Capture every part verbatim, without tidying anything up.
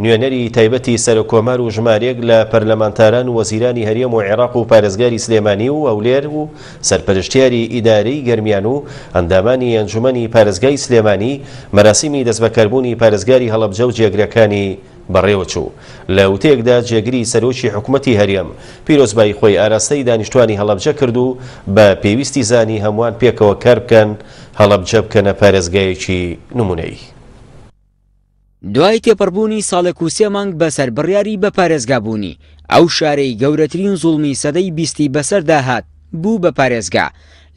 نوێنەری تایبەتی سەرۆککۆمار و ژمارەیەک لە پەرلەمانتاران و وەزیرانی هەرێم و عێراق و پارێزگاری سلێمانی و هەولێر و سەرپەرشتیاری ئیدارەی گەرمیان و ئەندامانی ئەنجومەنی پارێزگای سلێمانی مەراسیمی دەستبەکاربوونی پارێزگاری هەڵەبجە و جێگرەکانی بەڕێوەچوو. لە وتەیەکدا جێگری سەرۆکی حکومەتی هەرێم پیرۆزبایی خۆی ئاراستەی دانیشتوانی هەڵەبجە کرد و بە پێویستی زانی هەمووان پێکەوە کار بکەن هەڵەبجە بکەنە پارێزگایەکی نمونەیی. دوای تێپەڕبوونی ساڵێک و سێ مانگ بەسەر بڕیاری بە پارێزگابوونی ئەو شارەی گەورەترین زوڵمی سەدەی بیستی بەسەردا هات بوو بە پارێزگا.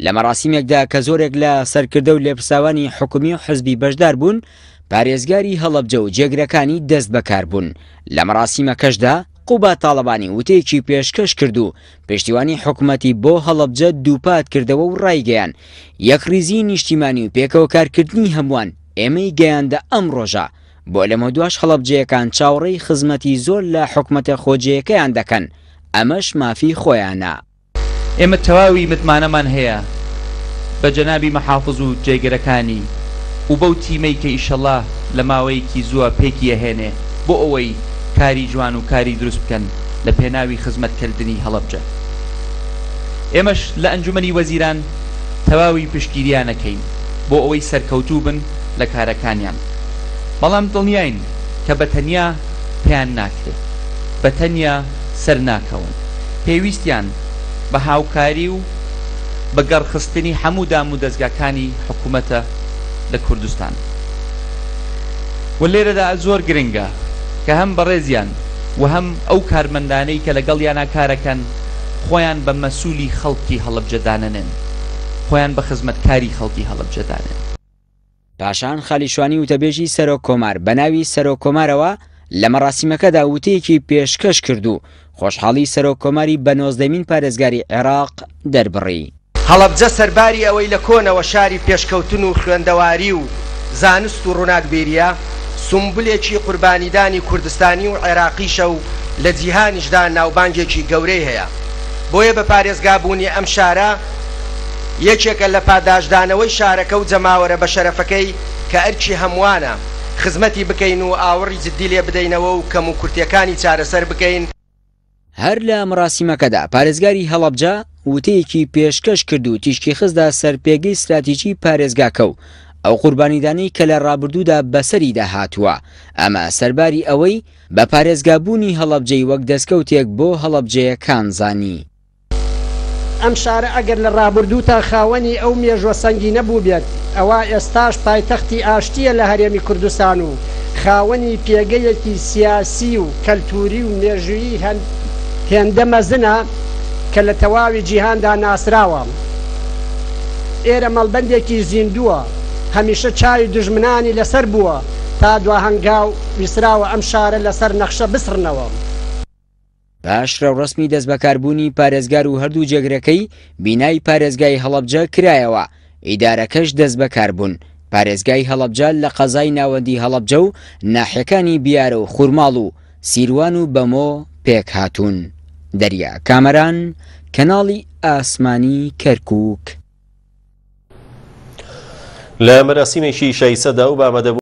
لە مەراسیمێکدا کە زۆرێک لە سەرکردە و لێپرساوانی حکومی و حزبی بەشدار بوون، پارێزگاری هەڵەبجە و جێگرەکانی دەست بەکار بوون. لە مەراسیمەکەشدا قوباد تاڵەبانی وتەیەکی پێشکەش کرد و پشتیوانی حکومەتی بۆ هەڵەبجە دووپات کردەوە و ڕایگەیان یەکڕیزی نیشتیمانی و پێکەوە کارکردنی هەمووان ئێمەی گەیاندە ئەم ڕۆژە. بۆ لەمە دواش هەڵەبجەیەکان چاوەڕێی خزمەتی زۆر لە حکومەتە خۆجێیەکەیان دەکەن، ئەمەش مافی خۆیانە. ئێمە تەواوی متمانەمان هەیە بە جەنابی مەحافز و جێگرەکانی و بەو تیمەی کە ئیشەڵا لە ماوەیەکی زووە پێکی ئەهێنێ بۆ ئەوەی کاری جوان و کاری دروست بکەن لە پێناوی خزمەتکردنی هەڵەبجە. ئێمەش لە ئەنجومەنی وەزیران تەواوی پشتگیریانەکەین بۆ ئەوەی سەرکەوتوو بن لە کارەکانیان، بەڵام دڵنیاین کە بە تەنیا پێیان ناکرێت، بە تەنیا سەر ناکەون، پێویستیان بە هاوکاری و بە گەڕخستنی هەموو دام و دەزگاکانی حکوومەتە لە کوردستان. و لێرەدا زۆر گرنگە کە هەم بەڕێزیان و هەم ئەو کارمەندانەی کە لەگەڵیانە کارەکەن خۆیان بە مەسوولی خەڵکی هەڵەبجە دانەنێن، خۆیان بە خزمەتکاری خەڵکی هەڵەبجە دانێن. پاشان خالیشوانی وتەبێژی سەرۆک کۆمار بە ناوی سەرۆک کۆمارەوە لە مەراسیمەکەدا وتەیەکی پێشکەش کرد و خۆشحاڵی سەرۆک کۆماری بە نۆزدەمین پارێزگاری عێراق دەربڕی. هەڵەبجە سەرباری ئەوەی لە کۆنەوە شاری پێشکەوتن و خوێندەواری و زانست و ڕووناکبیریە، سومبولێکی قوربانیدانی کوردستانی و عێراقیشە و لە جیهانیشدا ناوبانگێکی گەورەی هەیە. بۆیە بە پارێزگابوونی ئەم شارە یەکێکە لە پاداشدانەوەی شارەکە و جەماوەرە بە شەرەفەکەی کە ئەرکی هەمووانە خزمەتی بکەین و ئاوڕی جدی لێ بدەینەوە و کەم و کورتیەکانی چارەسەر بکەین. هەر لە مەراسیمەکەدا پارێزگاری هەڵەبجە وتەیەکی پێشکەش کرد و تیشکی خستدا سەر پێگەی ستراتیژی پارێزگاکە و ئەو قوربانیدانەی کە لە ڕابردوودا بەسەریدا هاتووە، ئەمە سەرباری ئەوەی بە پارێزگابوونی هەڵەبجەی وەک دەستکەوتێک بۆ هەڵەبجەیەکان زانی. ئەم شارە ئەگەر لە ڕابردووتا خاوەنی ئەو مێژوە سەنگی نەبوو بێت، ئەوە ئێستاش پایتەختی ئاشتیە لە هەرێمی کوردستان و خاوەنی پێگەیەکی سیاسی و کەلتوری و مێژوویی هێندە مەزنە کە لە تەواوی جیهاندا ناسراوە. ئێرە مەڵبەندێکی زیندووە، هەمیشە چاوی دوژمنانی لەسەر بووە تا دواهەنگاو ویسراوە ئەم شارە لەسەر نەخشە بسڕنەوە. پاش ڕێوڕەسمی دەستبەکاربوونی پارێزگار و هەردوو جێگرەکەی بینای پارێزگای هەڵەبجە کرایەوە، ئیدارەکەش دەستبەکار بوون. پارێزگای هەڵەبجە لە قەزای ناوەندی هەڵەبجە و ناحیەکانی بیارە و خورماڵ و سیروان و بەمۆ پێک هاتوون. دەریا کامەران، کەناڵی ئاسمانی کەرکووک. لە مەراسیمێکی شایسەدا و بە ئامادەبوون